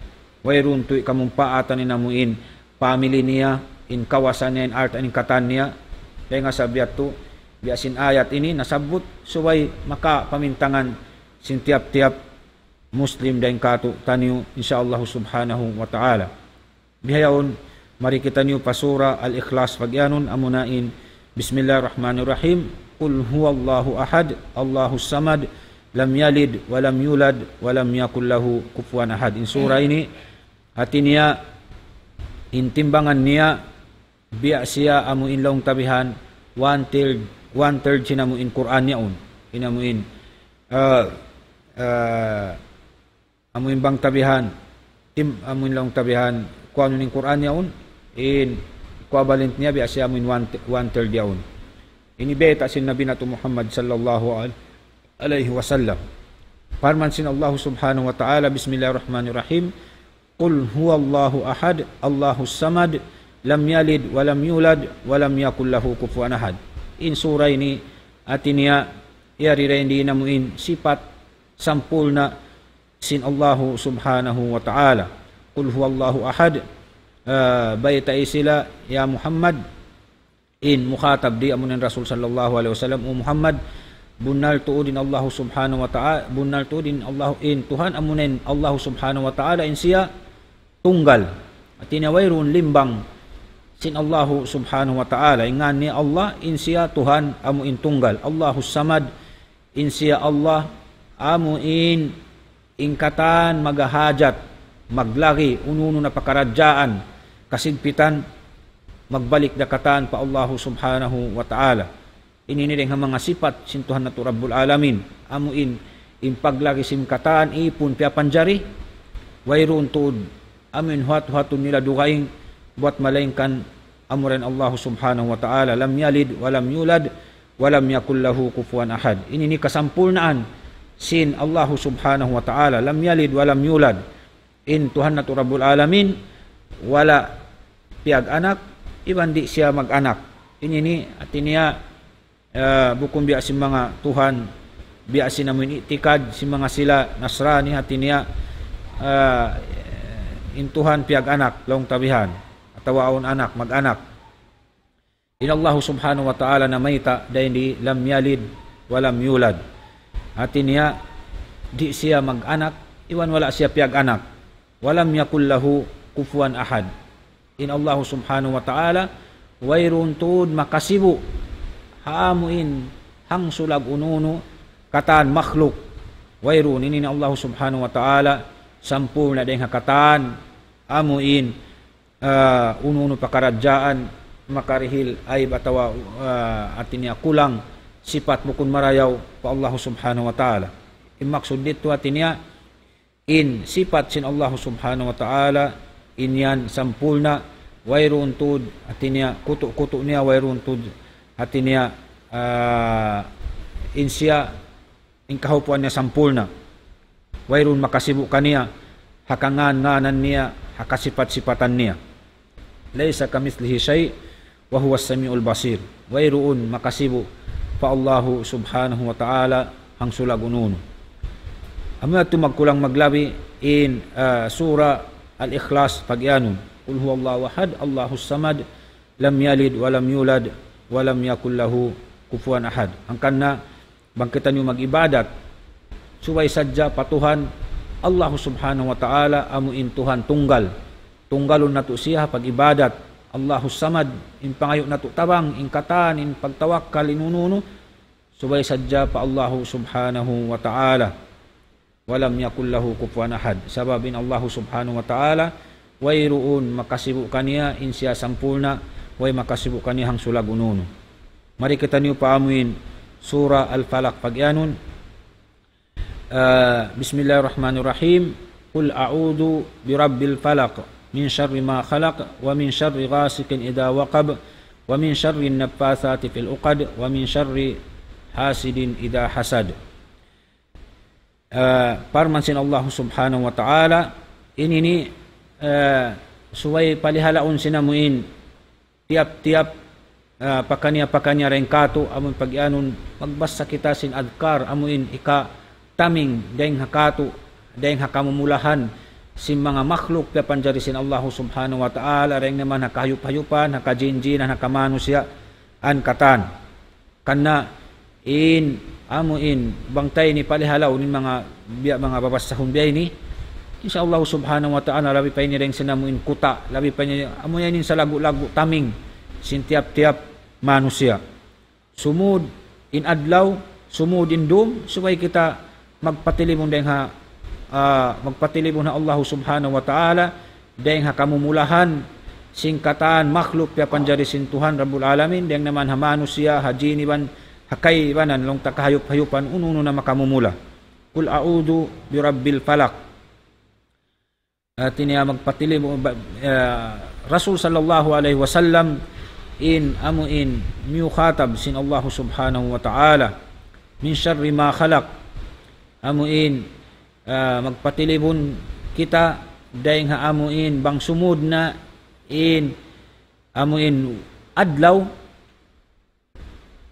Wayruun tuud kamumpaatan in amu in family niya, in kawasa niya, in alta', in katan niya. Dayng ha sabab yadtu, biya' sin ayat ini nasabbut, subay makapamintangan sin tiyap-tiyap Muslim dayn kātu'niyu, insya Allah subhanahu wa ta'ala. Bihaun, mari kitaniyu pa Surah Al-Ikhlas pagiyanun, amuna in, بسم الله الرحمن الرحيم. قل هو الله أحد، الله الصمد، لم يلد ولم يولد، ولم يكن له كفوا أحد. In surah ini, hati niya, in timbangan niya, biya' siya amu in laung ta bihan, one third, one third sin amu in Qur'an yaun. In amu in, ah, ah, amu in bang ta bihan, tim-, amu in laung ta bihan, kuanun in Qur'an yaun, in equivalent niya biya' siya amu in one, one third yaun. Ini bayta' sin Nabi natu' Muhammad sallallahu al-, alayhi wasallam. Parman sin Allah subhanahu wa ta'ala, بسم الله الرحمن الرحيم. قل هو الله أحد، الله الصمد، لم يلد ولم يولد، ولم يكن له كفوا أحد. In surah ini, hati niya, yari dayn di in amu in sipat sampurna' sin Allahu subhanahu wa ta'ala. قل هو الله أحد, ah, baytai sila, ya Muhammad, in mukhatab di' amuna in Rasul sallallahu alayhi wasallam, O Muhammad, bunnal tuud in Allahu subhanahu wa ta'ala, bunnal tuud in Allah, in Tuhan amuna in Allahu subhanahu wa ta'ala, in siya tunggal. Hati niya wayruun limbang sin Allahu subhanahu wa ta'ala. In ngan niya Allah, in siya Tuhan amu in tunggal. Allahus Samad, in siya Allah amu in in katan magahajat, maglagi, unu-unu na pakaradjaan, kasigpitan, magbalik da katan pa Allahu subhanahu wa ta'ala. Ini ini dayn ha manga sipat sin Tuhan natu' Rabbul Alamin. Amu in, in paglagi sin katan, ipun piyapanjari, wayruun tuud, amu in huwat-huwatun nila dugaing, buwat malaingkan amura in Allahu subhanahu wa ta'ala. لم يلد ولم يولد ولم يكن له كفوا أحد. Ini in kasampurnaan sin Allahu subhanahu wa ta'ala. لم يلد ولم يولد. In Tuhan natu' Rabbul Alamin, wala' piyag-anak, iban di' siya mag-anak. Ini ini, hati niya, ah, bukun biya' sin manga Tuhan, biya' sin amu in i'tikad sin manga sila Nasrani, hati niya, ah, in Tuhan piyag-anak, laung ta bihan, atawa awn anak, mag-anak. In Allahu subhanahu wa ta'ala namayta' dayn di لم يلد ولم يولد. Hati niya, di' siya mag-anak, iban wala' siya piyag-anak. ولم يكن له كفوا أحد. In Allahu subhanahu wa ta'ala, wayruun tuud makasibu' ha amu in hangsulag unu-unu katan makhluk. Wayruun, ini in Allahu subhanahu wa ta'ala, sampurna' dayn ha katan amu in, ah, unu-unu pakaradjaan, makarihil aib atawa, ah, hati niya kulang sipat bukun marayaw pa Allah Subhanahu wa Ta'ala. In maksud didtu hati niya, in sipat sin Allah Subhanahu wa Ta'ala, in yan sampurna', wayruun tuud hati niya kutu'-kutu' niya, wayruun tuud hati niya, ah, in siya, in kahaupuan niya sampurna'. Wayruun makasibu' kaniya, ha kangan-nganan niya, ha kasipat-sipatan niya. ليس كمثله شيء وهو السميع البصير. Wayruun makasibu' pa Allahu Subhanahu wa Ta'ala hangsulag unu-unu. Amu yadtu magkulang maglabi in, ah, Surah Al-Ikhlas pagiyanun. قل هو الله أحد، الله الصمد، لم يلد ولم يولد، ولم يكن له كفوا أحد. Hangkan na bang kitaniyu mag-ibadat, subay sadja pa Tuhan, Allahu Subhanahu wa Ta'ala, amu in Tuhan tunggal. Tunggalun natu' siya ha pag-ibadat. Allahu Samad, in pangayu' natu' tabang, in katan, in pagtawakkal, in unu-unu, subay sadja pa Allahu Subhanahu wa Ta'ala. ولم يكن له كفوا أحد. Sabab in Allahu Subhanahu wa Ta'ala, wayruun makasibu' kaniya in siya sampurna', way makasibu' kaniya hangsulag unu-unu. Mari kitaniyu pa amu in Surah Al-Falaq pagiyanun. Ah, بسم الله الرحمن الرحيم. قل أعوذ برب الفلق، من شر ما خلق، ومن شر غاسق إذا وقب، ومن شر النفاثات في العقد، ومن شر حاسد إذا حسد. Ah, parman sin Allah Subhanahu wa Ta'ala, ini ini, ah, subay palihalaun sin amu in tiyap-tiyap, ah, pakaniya-pakaniya dayn kātu', amu in pagiyanun, magbasa kita sin adhkar, amu in hikataming dayn ha kātu', dayn ha kamumulahan sin manga makhluk piyapanjari sin Allah Subhanahu wa Ta'ala, dayn naman ha kahayup-hayupan, ha kajin-jinan, ha kamanusiya', an katan. Karna' in, amu in, bang ta ini palihalaun in manga, biya' manga babasahun biya' ini, insya Allah Subhanahu wa Ta'ala, labi pa ini dayn sin amu in kuta', labi pa ini, amu yan in salagu'-lagu' taming sin tiyap-tiyap manusiya'. Sumud in adlaw, sumud in dum, subay kita magpatilibun dayn ha, ah, magpatilibun ha Allah Subhanahu wa Ta'ala, dayn ha kamumulahan sin katan makhluk piyapanjari sin Tuhan Rabbul Alamin, dayn naman ha manusiya', ha jin iban ha kaibanan, laung ta kahayup-hayupan, unu-unu na makamumula. قل أعوذ برب الفلق. Hati niya magpatilibun, ba-, eh, Rasul sallallahu alayhi wasallam in amu in miyukhatab sin Allah Subhanahu wa Ta'ala. من شر ما خلق. Amu in, ah, magpatilibun kita dayn ha amu in bang sumud na in amu in adlaw,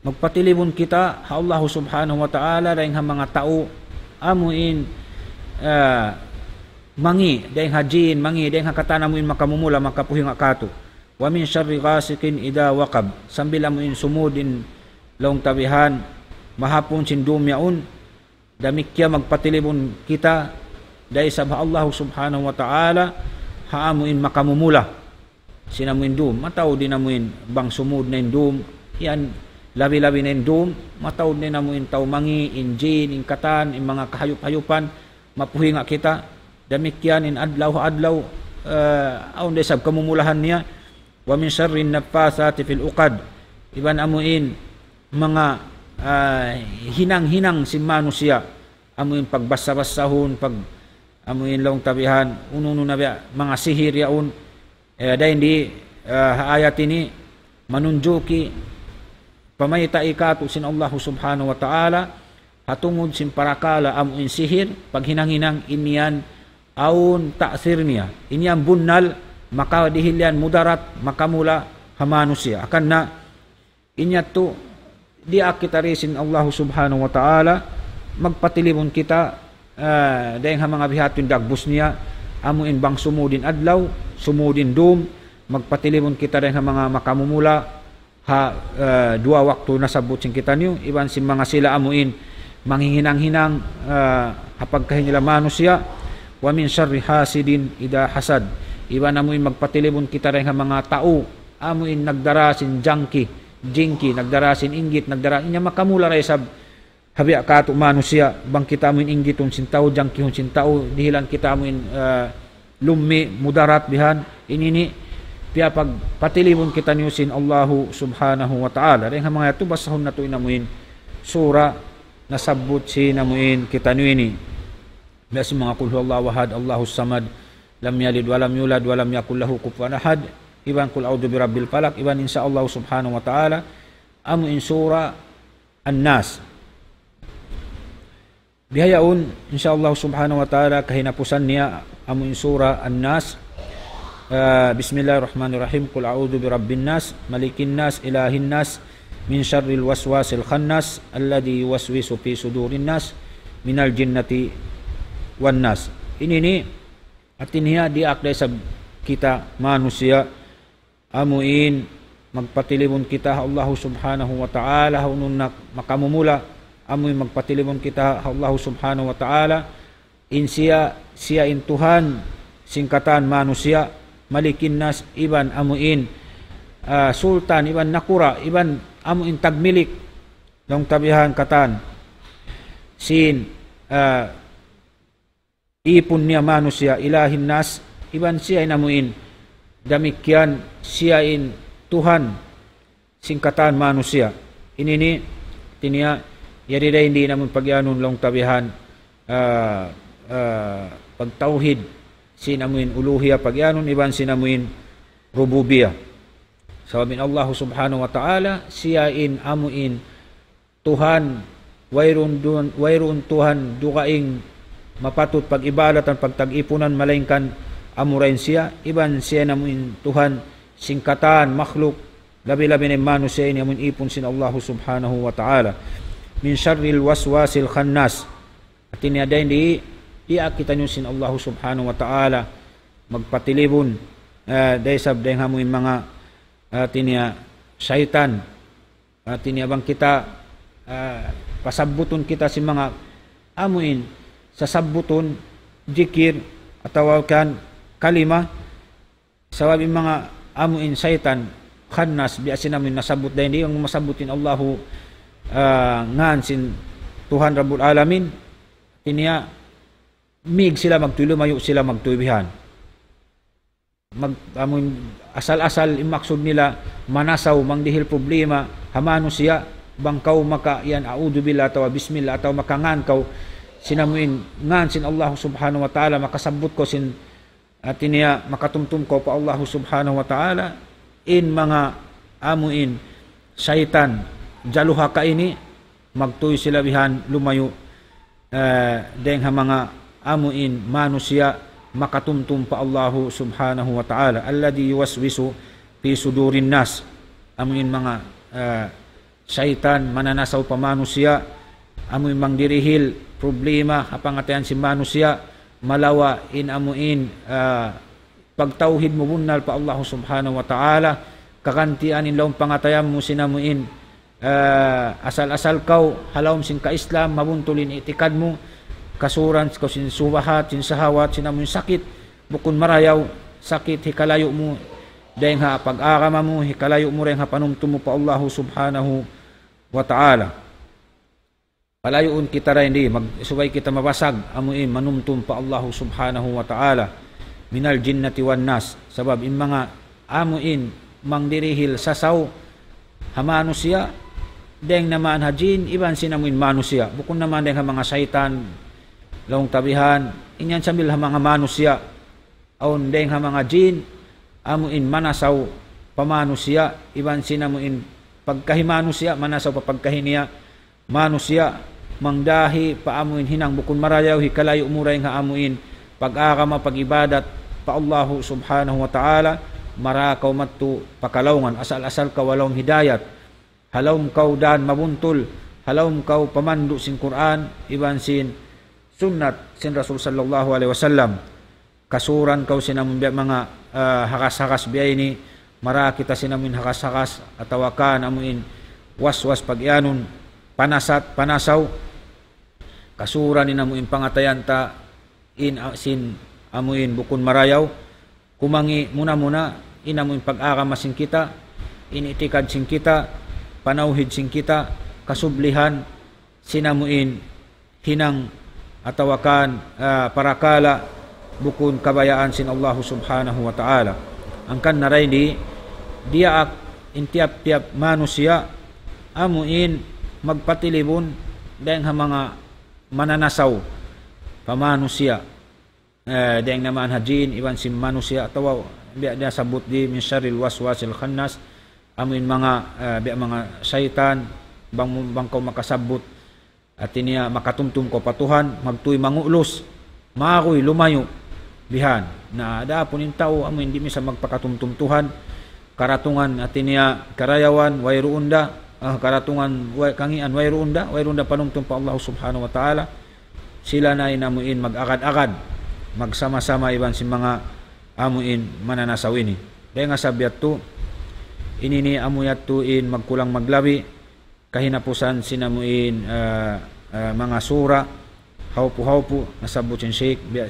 magpatilibun kita ha Allah Subhanahu wa Ta'ala dayn ha manga tau amu in, ah, mangi', dayn ha jin, mangi', dayn ha katan amu in makamumula, makapuhinga katu'. ومن شر غاسق إذا وقب. Sambil amu in sumud in laung ta bihan, mahapun sin dum yaun, damikkiyan magpatilibun kita da isab ha Allah Subhanahu wa Ta'ala, ha amu in makamumula sin amu in dum. Mataud in amu in bang sumud na in dum, yan labi-labi na in dum, mataud na in amu in tau mangi', in jin, in katan, in manga kahayup-hayupan, mapuhinga kita. Damikkiyan in adlaw, adlaw, eh, awn da isab kamumulahan niya. ومن شر النفاثات في العقد. Iban amu in manga, ah, hinang-hinang sin manusiya', amu in pagbasa-basahun, pag, amu in laung ta bihan, unu-unu na biya', manga sihir yaun, eh, dayn di, ah, ha ayat ini, manunjuki, pamayta' katu' sin Allah Subhanahu wa Ta'ala, ha tungud sin parakala' amu in sihir, paghinang-hinang in yan awn ta'sir niya. In yan bunnal, makadihil yan mudarat, makamula ha manusiya'. Hangkan na, in yadtu, diyaak kita di sin Allah Subhanahu wa Ta'ala, magpatilibun kita, ah, dayn ha manga biha' yadtu in dagbus niya, amu in bang sumud in adlaw, sumud in dum, magpatilibun kita dayn ha manga makamumula, ha, ah, duwa waktu nasabbut sin kitaniyu, iban sin manga sila amu in manghihinang-hinang, ah, ha pagkahi nila manusiya', ومن شر حاسد إذا حسد. Iban amu in magpatilibun kita dayn ha manga tau, amu in nagdara sin jangki, jingki, nagdara sin inggit, nagdara, in yan makamula da isab ha biya' katu' manusiya', bang kita amu in inggitun sin tau, jangkihun sin tau, dihilan kita amu in, ah, lummi', mudarat bihan, in ini, piyapagpatilibun kitaniyu sin Allahu Subhanahu wa Ta'ala. Dayn ha manga yadtu basahun natu' in amuin sura nasabbut sin amuin kitaniyu ini. Biya' sin manga قل هو الله أحد، الله الصمد، لم يلد ولم يولد ولم يكن له كفوا أحد, iban قل أعوذ برب الفلق, iban insya Allah Subhanahu wa Ta'ala, amuin sura An-Nas. Bihaun, insya Allah Subhanahu wa Ta'ala, kahinapusan niya amuin sura An-Nas. Ah, بسم الله الرحمن الرحيم. قل أعوذ برب الناس، ملك الناس، إله الناس، من شر الوسواس الخناس، الذي يوسوس في صدور الناس، من الجنة والناس. Ini ini, hati niya diyaak da isab kita manusiya', amuin magpatilibun kita ha Allahu Subhanahu wa Ta'ala, ha unun nak makamumula, amuin magpatilibun kita ha Allahu Subhanahu wa Ta'ala, in siya, siya in Tuhan sin katan manusiya', ملك الناس, iban amuin, ah, sultan, iban nakura', iban amuin tagmilik, laung ta bihan katan sin, ah, ipun niya manusiya', إله الناس, iban siya in amuin damikkiyan, siya in Tuhan sin katan manusiya'. Ini ini, hati niya, yari da in di' namu' pagiyanun laung ta bihan, ah, ah, pagtawhid sin amuin uluhiya pagiyanun, iban sin amuin rububiya. Sabab in Allahu Subhanahu wa Ta'ala, siya in amuin Tuhan, wayruun duun, wayruun Tuhan dugaing mapatut pag-ibadatan, pagtag-ipunan, malaingkan amura in siya, iban siya in amuin Tuhan sin katan makhluk, labi-labi na in manusiya' ini amuin ipun sin Allahu Subhanahu wa Ta'ala. من شر الوسواس الخناس. Hati niya dayn di, diyaak kitaniyu sin Allahu Subhanahu wa Ta'ala magpatilibun, eh, da isab dayn ha amuin manga, eh, hati niya saytan. Hati niya bang kita, ah, pasabbutun kita sin manga amuin sasabbutun, jikir, atawa kan kalima, sabab in manga amuin saytan, khannas, biya' sin amuin nasabbut dayn di, bang masabbut in Allahu, ah, ngan sin Tuhan Rabbul Alamin, hati niya, mīg sila magtuy, lumayu' sila magtuy bihan. Mag-, amun asal-asal in maksud nila manasaw, mangdihil problema ha manusiya', bang kaw maka yan, a'udhu billah atawa bismillah, atawa makangan kaw sin amuin ngan sin Allah Subhanahu wa Ta'ala, makasabbut kaw sin, hati niya, makatumtum kaw pa Allah Subhanahu wa Ta'ala, in manga amuin saytan jaluhaka ini, magtuy sila bihan lumayu', eh, dayn ha manga amuin manusiya' makatumtum pa Allahu Subhanahu wa Ta'ala. الذي يوسوس في صدور الناس. Amuin manga, eh, saytan mananasaw pa manusiya', amuin mangdirihil problema ha pangatayan sin manusiya', malawa' in amuin, eh, pagtawhid mu bunnal pa Allahu Subhanahu wa Ta'ala, kagantian in lawm pangatayan mu sin amuin, eh, asal-asal kaw ha lawm sin ka-Islam, mabuntul in i'tikad mu, kasuran kaw sin subahat, sin sahawat, sin amuin sakit, bukun marayaw, sakit hikalayu' mu dayn ha pag-agama mu, hikalayu' mu dayn ha panumtum mu pa Allahu Subhanahu wa Ta'ala. Palayuun kita dayn di, mag-, subay kita mabasag, amuin manumtum pa Allahu Subhanahu wa Ta'ala, من الجنة والناس. Sabab in manga amuin mangdirihil sasaw ha manusiya', dayn naman ha jin, iban sin amuin manusiya'. Bukun naman dayn ha manga saytan, laung ta bihan, in yan sambil ha manga manusiya'. Awn dayn ha manga jin, amuin manasaw pa manusiya', iban sin amuin pagkahi manusiya', manasaw pa pagkahi niya manusiya', mangdahi pa amuin hinang bukun marayaw, hikalayu' mu dayn ha amuin pag-agama, pag-ibadat pa Allahu Subhanahu wa Ta'ala, mara kaw madtu pa kalaungan, asal-asal kaw ha lawm hidayat, ha lawm kaw dan mabuntul, ha lawm kaw pamandu' sin Qur'an, iban sin sunnat sin Rasul sallallahu alayhi wasallam. Kasuran kaw sin amun biya' manga, ah, hakas-hakas biya' ini, mara kita sin amuin hakas-hakas, atawa kan amuin waswas pagiyanun, panasat, panasaw. Kasuran in amuin pangatayan ta, in, ah, sin amuin bukun marayaw, kumangi' muna-muna, in amuin pag-agama sin kita, in itikad sin kita, panawhid sin kita, kasublihan, sin amuin hinang atawa kan, ah, parakala' bukun kabayaan sin Allahu Subhanahu wa Ta'ala. Hangkan na dayn di, diyaak in tiyap-tiyap manusiya' amu in magpatilibun dayng ha manga mananasaw pa manusiya'. Eh, dayng naman ha jin, iban sin manusiya', atawa biya' da sabut di من شر الوسواس الخناس, amu in manga, eh, biya' manga saytan, bang, bang kaw makasabbut, hati niya makatumtum kaw pa Tuhan, magtuy mangulus, maguy lumayu', bihan. Na, adapun in tau, amu in di' minsan magpakatumtum Tuhan, karatungan, hati niya karayawan, wayruun da, ah, karatungan, way, kangīan, wayruun da, wayruun da panumtum pa Allah Subhanahu wa Ta'ala, sila na in amu in mag-agad-agad, magsama-sama iban sin manga amu in mananasaw ini. Dayng ha sabab yadtu, ini ini amu yadtu in magkulang maglabi, kahinapusan sin amu in, ah, ah, manga sura, hawpu-hawpu, nasabbut sin Sheikh, biya',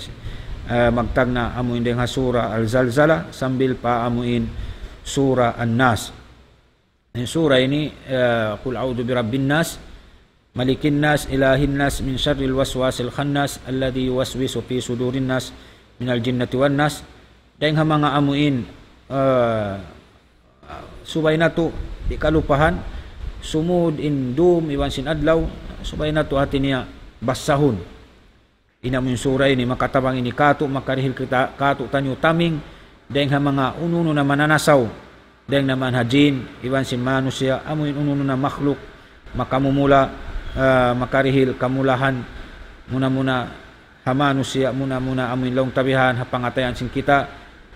ah, magtagna' amu in dayng ha sura Al-Zalzala, sambil pa amu in sura An-Nas. In sura ini, eh, قل أعوذ برب الناس ملك الناس إله الناس من شر الوسواس الخناس الذي يوسوس في صدور الناس من الجنة والناس. Dayng ha manga amu in, eh, subay natu' di' kalupahan, sumud in dum iban sin adlaw, subay natu' hati niya basahun. In amu in sura ini makatabang ini kātu', makarihil kita, kātu'niyu taming dayng ha manga unu-unu na mananasaw, dayng naman ha jin, iban sin manusiya', amu in unu-unu na makhluk, makamumula, ah, makarihil kamulahan, muna-muna ha manusiya', muna-muna amu in laung ta bihan, ha pangatayan sin kita,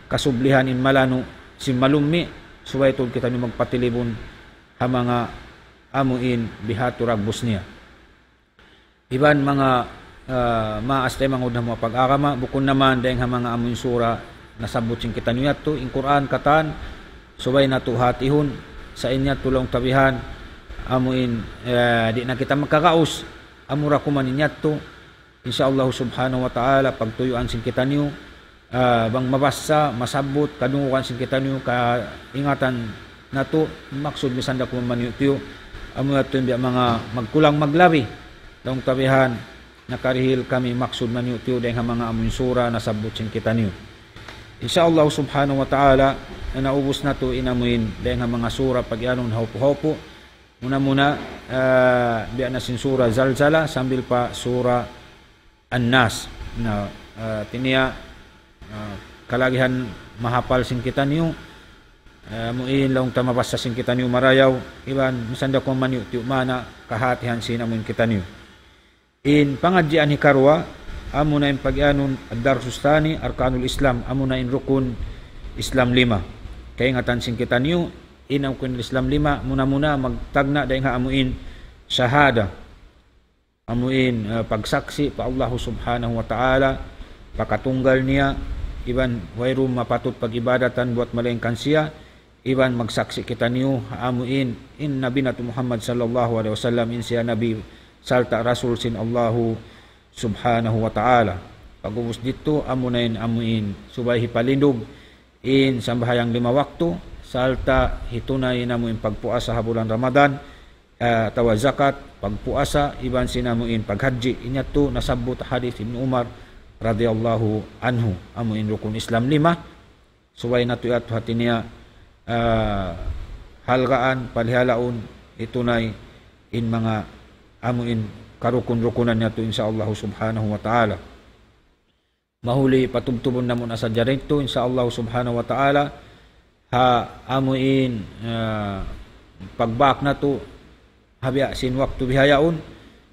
kasublihan in malanu', sin malummi', subay tuud kitaniyu magpatilibun ha manga amu in bihadtu dagbus niya. Iban manga, ah, maas taymanghud ha manga pag-agama, bukun naman dayng ha manga amu in sura nasabbut sin kitaniyu yadtu, in Qur'an katan, subay natu' hatihun, sa' in yadtu laung ta bihan, amu in, eh, di' na kita makagaus, amura kuman in yadtu, insya Allah Subhanahu wa Ta'ala, pagtuyuan sin kitaniyu, ah, bang mabassa, masabbut, kadungugan sin kitaniyu, kaingatan natu', maksud misan da kuman maniyu'-tiyu', amu yadtu in biya' manga magkulang maglabi, laung ta bihan, nakarihil kami maksud maniyu'-tiyu' dayng ha manga amu in sura nasabbut sin kitaniyu. Insya Allah Subhanahu wa Ta'ala, naubus natu' in amu in dayng ha manga sura pag-iyanun hawpu-hawpu, muna-muna, ah, biya' na sin sura Zalzala sambil pa sura An-Nas. Na, ah, hati niya, ah, kalagihan mahapal sin kitaniyu, ah, amu in laung ta mabassa sin kitaniyu marayaw, iban misan da kuman maniyu'-tiyu' maana kahatihan sin amu in kitaniyu. In pangadjian hikaruwa, amu na in pag-iyanun الدرس الثاني أركان الإسلام, amu na in rukun Islam lima. Kaingatan sin kitaniyu, in rukun Islam lima, muna-muna magtagna' dayng ha amu in shahada. Amu in, eh, pagsaksi' pa Allah Subhanahu wa Ta'ala, pakatunggal niya, iban wayruun mapatut pag-ibadatan buwat malaingkan siya, iban magsaksi' kitaniyu, amu in, in Nabi natu' Muhammad sallallahu alayhi wasallam, in siya Nabi, sarta' Rasul sin Allahu Subhanahu wa Ta'ala. Pag'ubus didtu, amu na in, amu in, subay hipalindug, in sambahayang lima waktu, sarta' hitunay in amu in pagpuasa ha bulan Ramadan, ah, atawa zakat, pagpuasa, iban sin amu in paghajji. In yadtu nasabbut hadith Ibn Umar radiyallahu anhu, amu in rukun Islam lima, subay natu' yadtu hati niya, ah, halgaan, palihalaun, hitunay in manga amu in karukun-rukunan yadtu, insya Allah Subhanahu wa Ta'ala. Mahuli patubtubun namu' na sadja didtu, insya Allah Subhanahu wa Ta'ala, ha amu in, ah, pagbak natu', ha biya' sin waktu bihaun,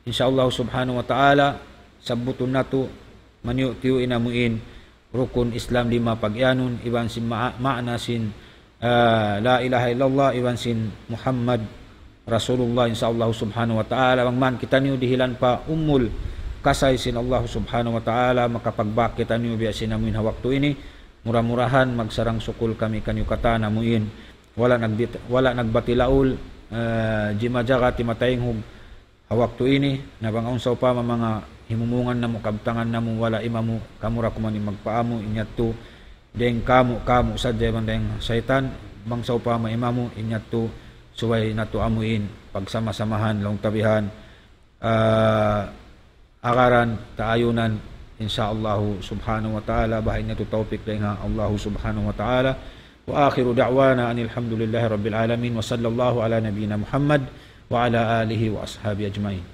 insya Allah Subhanahu wa Ta'ala, sabbutun natu', maniyu'-tiyu' in amu in, rukun Islam lima pag-iyanun, iban sin ma-, maana sin, ah, la ilaha illallah, iban sin Muhammad Rasulullah, insya Allah Subhanahu wa Ta'ala. Bang man kitaniyu dihilan pa umul kasay sin Allah Subhanahu wa Ta'ala, makapagbak kitaniyu biya' sin amu in ha waktu ini. Mura-murahan magsarang sukul kami kaniyu katan amu in. Wala' nagbit-, wala' nagbatilaul, eh, jimajaga timataynghug ha waktu ini, na bang awn sawpama manga himumungan namu', kabtangan namu', wala' imamu, kamu ra kuman in magpaamu, in yadtu, dayng kamu, kamu sadja iban dayng saytan, bang sawpama imamu, in yadtu, subay natu' amu in, pagsama-samahan, laung ta bihan, ah, agaran, taayunan, insya Allah Subhanahu wa Ta'ala, baha' in yadtu tawpik dayng ha Allah Subhanahu wa Ta'ala, وآخر دعوانا أن الحمد لله رب العالمين، وصلى الله على نبينا محمد وعلى آله وأصحابه أجمعين.